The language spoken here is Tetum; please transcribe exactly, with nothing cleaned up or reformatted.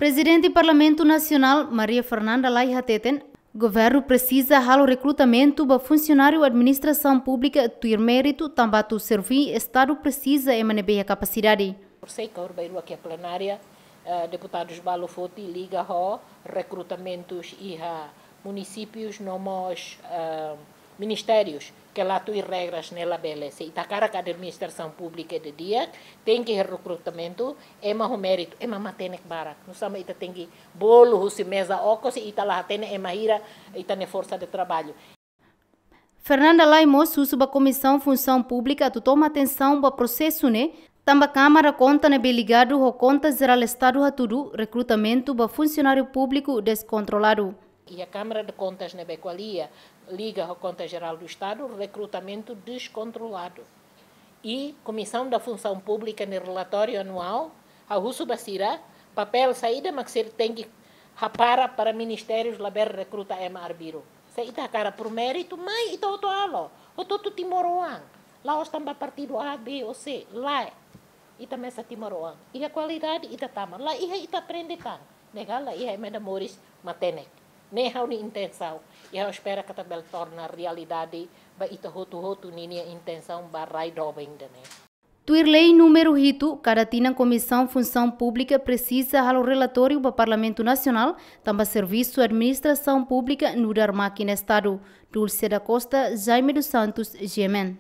Prezidente Parlamentu Nasionál, Maria Fernanda Lay hateten, governu presiza halo rekrutamentu ba funsionáriu administrasaun públika tuir méritu tanba atu serví Estadu presiza ema ne'ebé iha kapasidade. Por sei kaur bairua ke plenária, eh, deputadus balu foti liga ho rekrutamentus iha munisípius no mós, eh, ministérius ke la tuir regras ne'e labele. Se ita hakarak administrasaun públika ida di'ak, tenke rekrutamentu ema ho méritu, ema matenek barak. Nusá mak ita tenke bolu husi meza okos se ita la hatene ema hira ita-nia forsa de traballu. Fernanda Lay mós husu ba Komisaun Funsaun Públika atu toma atensaun ba prosesu ne'e, tanba Kámara Konta ne'ebé ligadu ho Konta Jerál Estadu hatudu rekrutamentu ba funsionáriu públiku deskontroladu. Iha Kámara de Kontas ne'ebé ko'alia liga ho Konta Jerál do Estadu, rekrutamentu deskontroladu. I Komisaun da Funsaun Públika nia relatóriu anuál, ha'u husu ba sira, papél saida mak sira tenke hapara para ministérius labele rekruta ema arbiru. Se ita hakarak por méritu, mai ita hotu halo, hotu-hotu timoroan. La'ós tanba partidu A, B ou C, lae. Ita mesak timoroan. Iha kualidade ita tama. La iha ita aprende tan. Ne'e ka la iha ema ida moris matenek. Ne'e ha'u-nia intensaun. I ha'u espera katak bele torna realidade ba ita hotu-hotu ninia intensaun ba rai doben ida-ne'e. Tuir lei númeru hitu, kada tinan Komisaun Funsaun Públika presiza halo relatóriu ba Parlamentu Nasionál, tanba servisu administrasaun públika nu'udar mákina Estadu. Dulce da Costa, Jaime dos Santos, G M N.